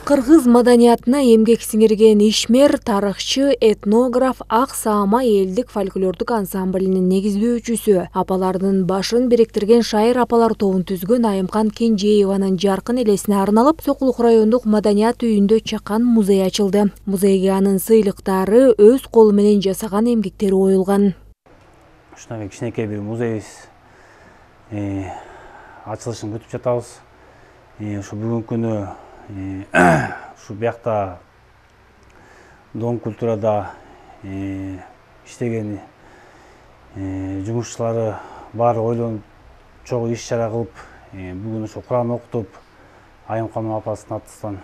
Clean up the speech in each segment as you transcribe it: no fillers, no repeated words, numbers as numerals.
Кыргыз маданиятына эмгек сиңирген ишмер, тарыхчы, этнограф Ак Саама элдик фольклордук ансамблинин негиздөөчүсү, апалардын башын бириктирген шайыр апалар тобун түзгөн Айымкан Кенжееванын жаркын элесине арналып, Сокулук райондук маданият үйүндө чакан музей ачылды. Музейге анын сыйлыктары, өз колу менен жасаган эмгектери коюлган. Ушундай кичинекей бир музейибиз ачылышын күтүп жатабыз. Ушу бүгүнкү күнү ушу биякта Дом культурада иштеген жумушчулары баары ойлонуп чогуу иш чара кылып, бүгүн ушу Куран окутуп, Айымкан апасынын атынан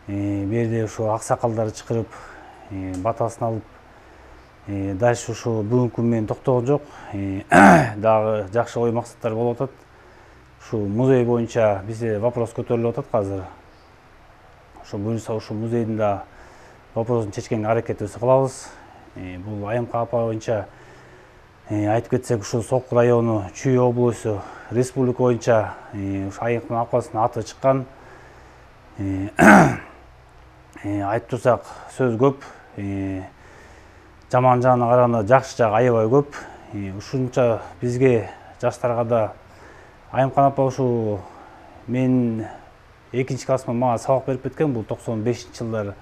берде ушу аксакалдарды чакырып, батасын алып, дальше ушу бүгүнкү күн менен токтогон жок. Дагы жакшы ой максаттар болуп атат. Ушу музей боюнча бизде вопрос көтөрүлүп атат азыр. Ошо буюрса ушу музейдин да вопросун чечкенге аракетибизди кылабыз. Бул Айымкан апа боюнча айтып кетсек, ушу Сокулук району, Чүй облусу, республика боюнча ушу Айымкан апасынын аты чыккан. Айтып турсак сөз көп. Жаман жагына караганда жакшы жагы аябай көп. Ушунча бизге жаштарга да Айымкан апа ушу мен 2-классымда мага сабак берип кеткен, бул 95-жылдары.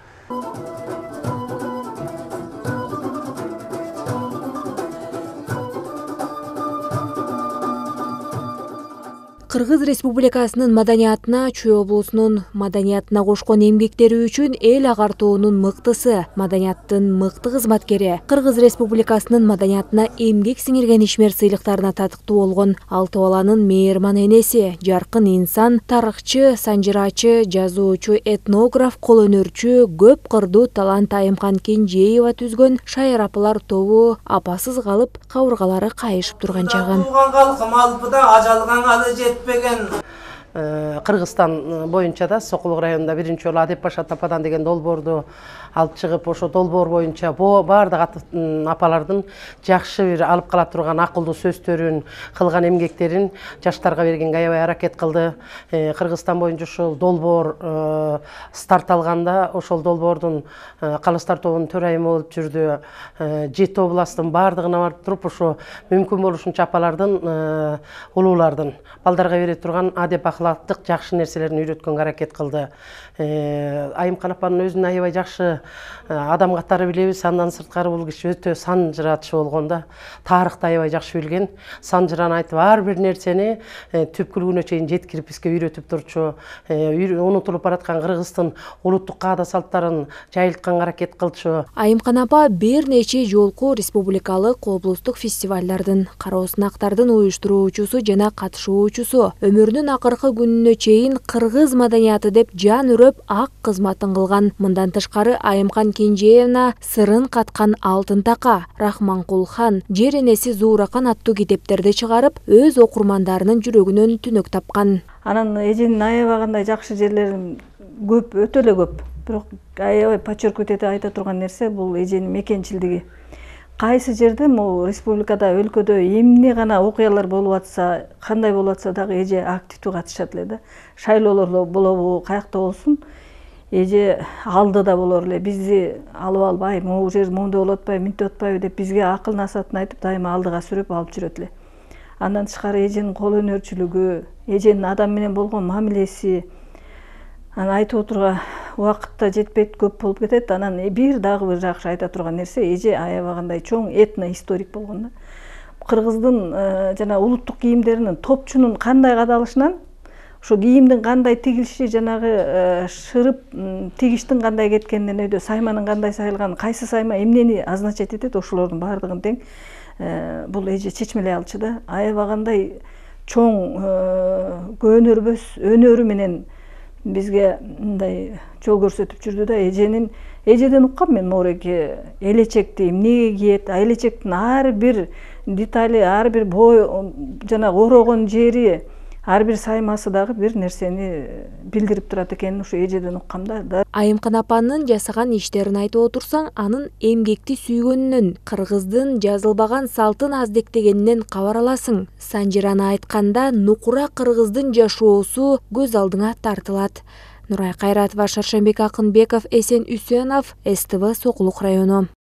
Кыргыз Республикасынын маданиятына, Чүй облусунун маданиятына кошкон эмгектери үчүн эл агартуунун мыктысы, маданияттын мыкты кызматкери, Кыргыз Республикасынын маданиятына эмгек сиңирген ишмер сыйлыктарына татыктуу болгон 6 баланын мээрман энеси, жаркын инсан, тарыхчы, санжырачы, жазуучу, этнограф, кол өнөрчү, көп кырдуу талант Айымкан Кенжеева түзгөн шайыр апалар тобу апасыз калып, кабыргалары кайышып турган чагы. Кыргызстан боюнча да Сокулук районунда биринчи жолу Адеп Паша Тападан деген долбоорду алып чыгып, ошо долбоор боюнча баардык апалардын жакшы бир алып кала турган акылдуу сөздөрүн, кылган эмгектерин жаштарга бергенге аябай аракет кылды. Кыргызстан боюнча ушул долбоор старт алганда, ошол долбоордун калыстар тобунун төрайымы болуп жүрдү. 7 областтын баардыгына барып туруп, ошо мүмкүн болушунча апалардын, улуулардын балдарга бере турган адеп акылаттык жакшы нерселерин үйрөткөнгө аракет кылды. Айымкан апанын өзүн аябай жакшы адам катары билебиз. Андан сырткары бул киши өтө санжыраачы болгон да, тарыхты аябай жакшы билген. Санжыраны айтып, ар бир нерсени түпкүлүгүнө чейин жеткирип бизге үйрөтүп турчу. Унутулуп бараткан Кыргыздын улуттук каада салттарын жайылтканга аракет кылчу. Айымкан апа бир нече жолку республикалык, облустук фестивалдардын, кароосунактардын уюштуруучусу жана катышуучусу. Өмүрүнүн акыркы күнүнө чейин кыргыз маданияты деп жан үрөп ак кызматын кылган. Мындан тышкары Айымкан Кенжеевна сырын каткан Алтын така, Рахманкул хан, Жер энеси Зууракан аттуу китептерди чыгарып, өз окурмандарынын жүрөгүнөн түнөк тапкан. Анан эженин аябагандай жакшы жерлери көп, өтө эле көп. Бирок аябай подчеркнуть ете айта турган нерсе бул эженин мекенчилдиги. Кайсы жерде могу республикада, өлкөдө эмне гана окуялар болуп атса, кандай болуп атса дагы эже активдүү катышат эле да. Шайлоолордо болобу, каякта болсун, эже алдыда болор эле. Бизди алып албай, могу жер моундай болуп атпайбы, мынтип атпайбы деп бизге акыл насаатын айтып, дайыма алдыга сүрөп алып жүрөт эле. Андан тышкары эженин кол өнөрчүлүгү, эженин адам менен болгон мамилеси, аны айтып отурга убакытта жетпейт, көп болуп кетет. Анан дагы бир жакшы айта турган нерсе, эже аябагандай чоң этно-историк болгон да. Кыргыздын жана улуттук кийимдеринин топчунун кандай кадалышынан, ошо кийимдин кандай тигилиши, жанагы шырып тигиштин кандай кеткенинен өйдө сайманын кандай сайылганын, кайсы сайма эмнени азначать этет, ошолордун баардыгын тең бул эже чечмелей алчу да. Аябагандай чоң көнөрбөс өнөрү менен бизге мындай жол көрсөтүп жүрдү да. Эжеден уккам мен моореке элечекти эмнеге кийет, элечектин ар бир детали, ар бир бой, жана орогон жери, ар бир саймасы дагы бир нерсени билдирип турат экенин ушу эжеден уккам да. Айымкан апанын жасаган иштерин айтып отурсаң, анын эмгекти сүйгөнүнөн, кыргыздын жазылбаган салтын аздектегенинен кабар аласың. Санжираны айтканда, нукура кыргыздын жашоосу көз алдыңа тартылат. Нурай Кайратова, Шаршембек Акынбеков, Эсен Үсөнов, СТВ Сокулук району.